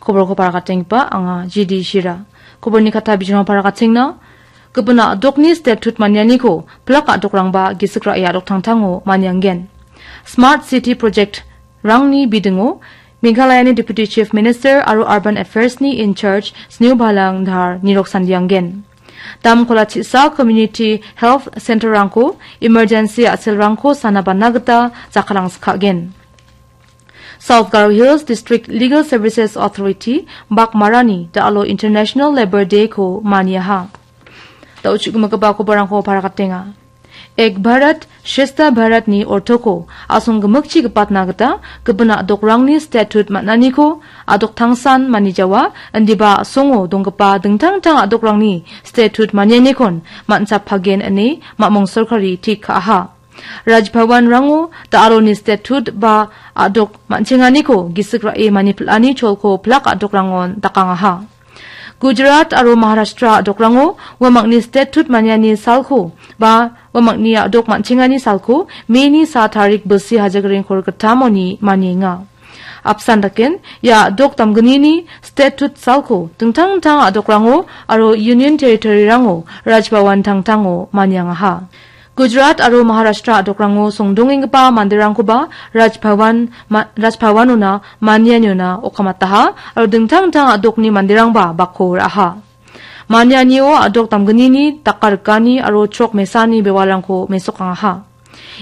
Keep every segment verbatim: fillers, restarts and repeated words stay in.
Koborko parakatenggipa anga G D Shira. Koborni kata bijima parakatengna, gipina a·dokni statut manianiko plak a·dokrangba gisik ra·e a·dok tangtango manianggen. Smart City Project rangni bidingo Meghalayani Deputy Chief Minister aro Urban Affairs-ni in charge Sneo Bhalang Dhar nirok sandianggen. Dam kola chisa community health center-rangko emergency a·selrangko sana bana gita jakkalangsikgen. South Garo Hills District Legal Services Authority bakmarani da·alo International Labour Day-ko maniaha. Da·o chu·gimigipa koborangko parakatenga. Ek Bharat Shreshtha Bharat-ni ortoko a·song gimikchi gipatna gita gipin a·dokrangni statut man·aniko a·dok tangsan manijawa, indiba a·songo donggipa dingtang dingtang a·dokrangni statut manianikon man·chapagen ine mamung sorkari tik ka·aha. Raj Bhavan-rango da·aloni statut ba a·dok man·chenganiko gisik ra·e manipil·ani cholko plak a·dokrangon dakangaha. Gujarat aro Maharashtra a·dokrango uamangni statut maniani salko ba uamangni a·dok man·chengani salko May-ni sa tarik bilsi hajagring kor gittamoni manienga. Apsan daken, ia a·dok damgnini statut salko dingtang dingtang a·dokrango aro Union Territory-rango Raj Bhavan tangtango maniangaha. Gujarat aro Maharashtra a·dokrango songdongenggipa manderangkoba Raj Bhavan ma-, Raj Bhavan-ona manianiona okamataha aro dingtang dingtang a·dokni manderangba bakko ra·aha. Manianio a·dok damgnini dakarikani aro chrok mesani bewalrangko mesokangaha.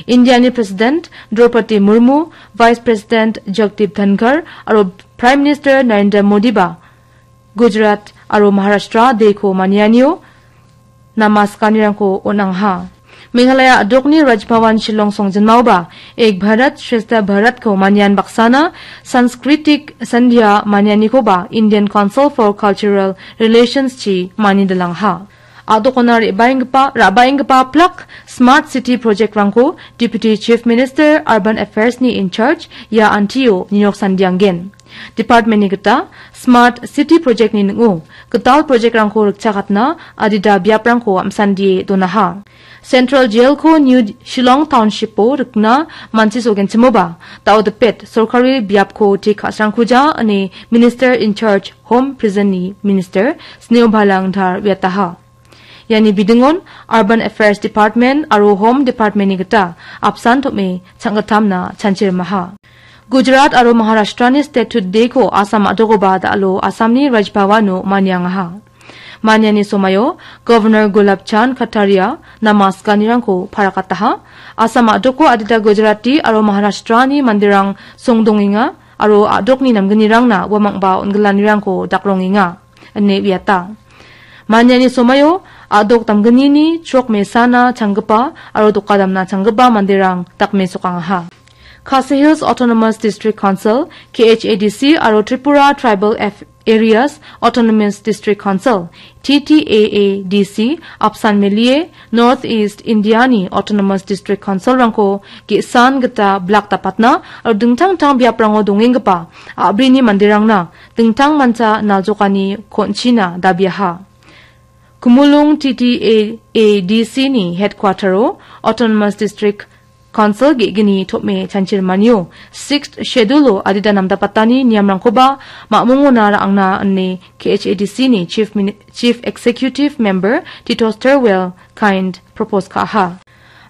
Indiani President Draupadi Murmu, Vice President Jagdeep Dhankhar aro Prime Minister Narendra Modiba Gujarat aro Maharashtra deko manianio namaskanirangko on·angaha. Meghalaya a·dokni Raj Bhavan Shillong songjinmaoba Ek Bharat Shreshtha Bharat-ko manian baksana Sanskritik Sandhya manianikoba Indian Council for Cultural Relations-chi manidilangaha. A·dokona re·baenggipa, ra·baenggipa plak Smart City Project-rangko Deputy Chief Minister Urban Affairs-ni in charge ia antio nirok sandianggen. Department-ni gita Smart City Project-ni ning·o gital project-rangko rikchakatna adita biaprangko am·sandie donaha. Central Jail-ko New Shillong Township-o rikna manchisogenchimoba, da·o dipet sorkari biapko te ka·srangkuja ine Minister in charge Home Prison-ni Minister Sneo Bhalang Dhar uiataha. Iani bidingon Urban Affairs Department aro Home Department-ni gita apsan tom·e changgittamna chanchirimaha. Gujarat aro Maharashtra-ni Statute Day-ko Assam a·dokoba da·alo Assamni Raj Bhavan-o maniangaha. Maniani somaio Governor Gulab Chand Kataria namaskanirangko parakataha. Assam a·doko adita Gujarati aro Maharashtra-ni manderang songdongenga aro a·dokni namgnirangna uamangba on·gilanirangko dakrongenga ine uiata. Maniani somaio a·dok damgnini chrok mesana changgipa aro doka damna changgipa manderang dakmesokangaha. Khasi Hills Autonomous District Council, K H A D C, aro Tripura Tribal Af-, Areas Autonomous District Council, T T A A D C, apsan melie North East India-ni Autonomous District Council-rangko ge·san gita blak dapatna aro dingtang dingtang biaprango dongenggipa a·brini manderangna dingtang mancha naljokani kon·china dabiaha. Kumulung T T A A D C-ni headquarter-o Autonomous District Council ge·gni tom·e chanchirimanio Sixth Schedule-o adita namdapatani niamrangkoba mamungona ra·angna ine K H A D C-ni Chief Mini-, Chief Executive Member Titoster Well Kind propose ka·aha.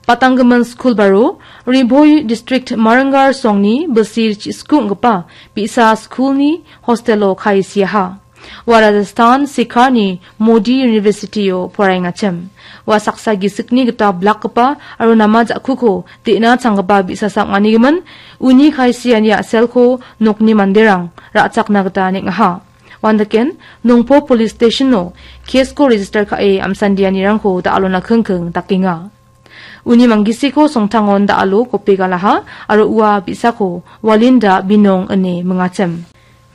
Batanggimin skul baro Ri Bhoi District Marangar songni bilsi chi-, sku ong·gipa bi·sa skulni hostelo kae siaha. Ua Rajasthan Sikharni Modi University-o poraengachim. Ua saksa gisikni gita blakgipa aro nama ja·kuko de·na changgipa bi·sasa ong·anigimin, uni kae siani a·selko nokni manderang ra·chakna gita neng·aha. Uandaken, Nongpo Police Station-o case-ko register ka·e amsandianirangko da·alona kingking dakenga. Uni manggisiko songtangon da·alo kopi galaha aro ua bi·sako Walinda Binong ine mingachim.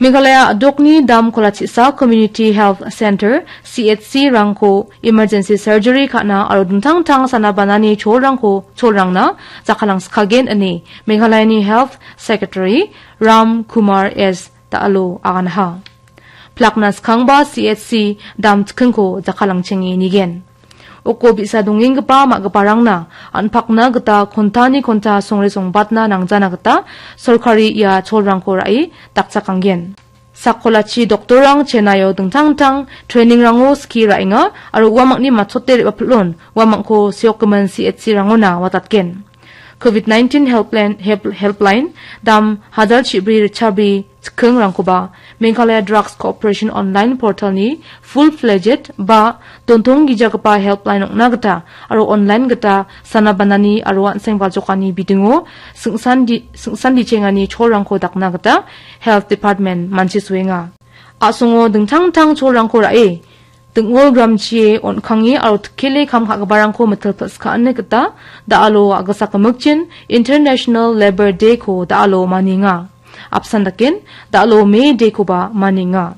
Meghalaya a·dokni dam kolachisa Community Health Center, C H C-rangko emergency surgery ka·na aro dingtang dingtang sana banani cholrangko, cholrangna jakkalangskagen ine Meghalayani Health Secretary Ram Kumar S da·alo aganaha. Plakna skangba C H C dam chikingko jakkalangchengi nigen. Uko bi·sa dongenggipa ma·giparangna an·pakna gita kontani konta songre songbatna nangjana gita sorkari ia cholrangko ra·e dakchakanggen. Sakkolachi doktorrang Chennai-o dingtang dingtang trainingrango skie ra·enga aro uamangni matchote re·bapilon uamangko seokgimin C H C-rangona watatgen. Covid nineteen helpline, help-, helpline dam hajar chibri richabri chikingrangkoba Meghalaya Drugs Cooperation Online Portal-ni full-fledged ba dontong gijagipa helpline ong·na gita aro online gita sana banani aro an·seng baljokani bidingo singsan di-, singsan dichengani cholrangko dakna gita Health Department manchisoenga. A·songo dingtang dingtang cholrangko ra·e, ding·ol gramchie on·kange aro tikkele kam ka·giparangko mitil pil·skaani gita da·alo a·gisa gimikchin International Labour Day-ko da·alo manienga. Apsan daken da·alo May Day-koba manienga.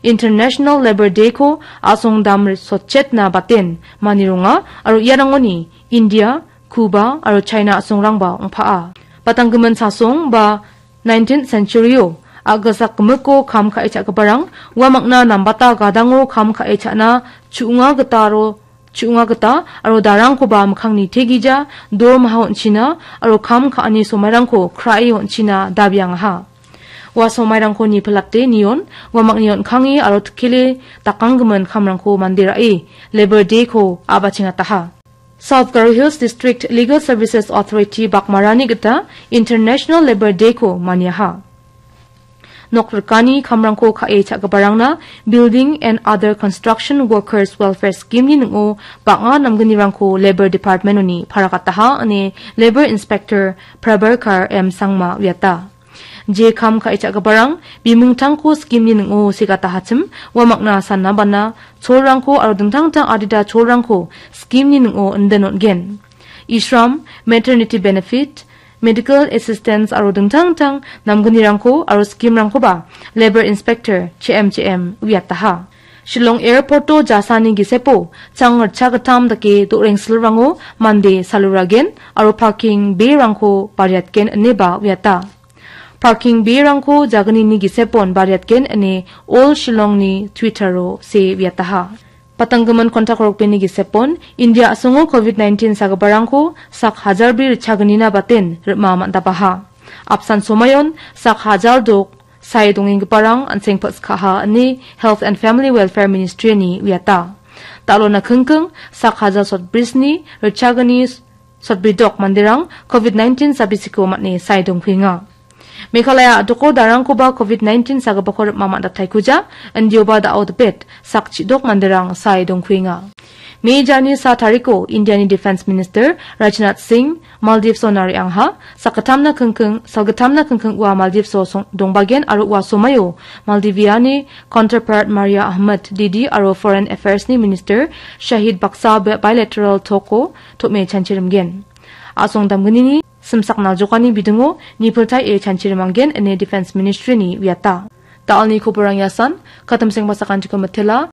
International Labour Day-ko a·song dam sotchetna baten manironga aro iarangoni India, Cuba aro China a·songrangba ong·pa·a. Batanggimin sasong ba nineteenth century-o a·gisak gimiko kam ka·e cha·giparang uamangna nambata gadango kam ka·e cha·na chu·onga gita aro chu·onga gita aro darangkoba mikkangni tegija dormaha on·china aro kam ka·ani somairangko krae on·china dabiangaha. Ua somairangko nipilate nion, uamangni on·kange aro tikkele dakanggimin kamrangko mande ra·e, Labour Day-ko a·bachengataha. South Garo Hills District Legal Services Authority bakmarani gita International Labour Day-ko maniaha. Nok rikani kamrangko ka·e cha·giparangna Building and Other Construction Workers Welfare Scheme-ni ning·o bang·a namgnirangko Labour Department-oni paragataha ine Labour Inspector Prabharkar M Sangma uiata. Je kam ka·e cha·giparang bimungtangko scheme-ni ning·o segatahachim uamangna sana bana cholrangko aro dingtang dingtang adita cholrangko scheme-ni ning·o indin on·gen. Ishram, maternity benefit, medical assistance aro dingtang dingtang namgnirangko aro scheme-rangkoba Labour Inspector Ch M Ch M uiataha. Shillong Airport-o jasani gisepo chang ritchagittam dake do·rengsilrango mande saluragen aro parking bay-rangko bariatgen ineba uiata. Parking bay-rangko jagnini gisepon bariatgen ine All Shillong-ni Twitter-o see uiataha. Patanggimin kontak rokbeni gisepon India a·songo Covid nineteen sagiparangko sak hajar bri ritchagnina baten rim·a man·dabaha. Apsan somayon sak hajar dok sae dongenggiparang an·seng pil·skaha ine Health and Family Welfare Ministry-ni uiata. Da·alona kingking sak hajar sotbrisni ritchagni sotbridok manderang Covid nineteen sabisiko man·e sae dongkuenga. Meghalaya a·doko darangkoba Covid nineteen sagipako rim·a man·dataikuja, indioba da·o dipet sak chidok manderang sae dongkuenga. Me jani sa tariko Indiani Defense Minister Rajnath Singh Maldives-ona re·angha, sakgittamna kingking, salgittamna kingking ua Maldives-o song-, dongbagen aro ua somaio Maldiviani counterpart Maria Ahmed Didi aro Foreign Affairs-ni Minister Shahid Baksa bi-, bilateral talk-o tom·e chanchirimgen. A·song damgnini simsak naljokani bidingo nipiltae chanchirimanggen ine Defense Ministry-ni uiata. Da·alni koborang iasan, katimseng basakantiko mitela,